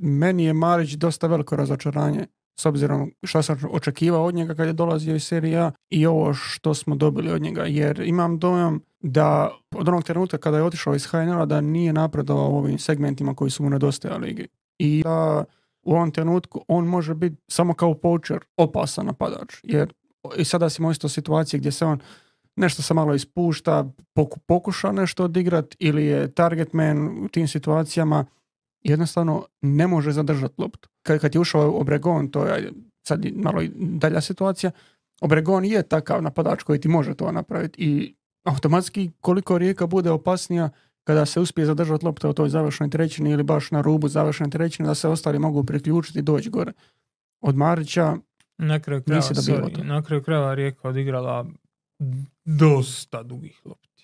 meni je Marić dosta veliko razočaranje s obzirom što sam očekivao od njega kad je dolazio iz Serije A i ovo što smo dobili od njega, jer imam dojam da od onog trenutka kada je otišao iz HNL-a da nije napredovao u ovim segmentima koji su mu nedostajali ligi. I da u ovom trenutku on može biti samo kao poacher opasan napadač, jer i sada smo isto u situaciji gdje se on nešto se malo ispušta, pokuša nešto odigrat ili je target man u tim situacijama, jednostavno ne može zadržati loptu. Kad je ušao Obregon, to je sad malo dalja situacija, Obregon je takav napadač koji ti može to napraviti i automatski koliko Rijeka bude opasnija kada se uspije zadržati lopta u toj završnoj trećini ili baš na rubu završne trećine da se ostali mogu priključiti i doći gore. Od Marića na kraju krajeva Rijeka odigrala dosta dugih lopti.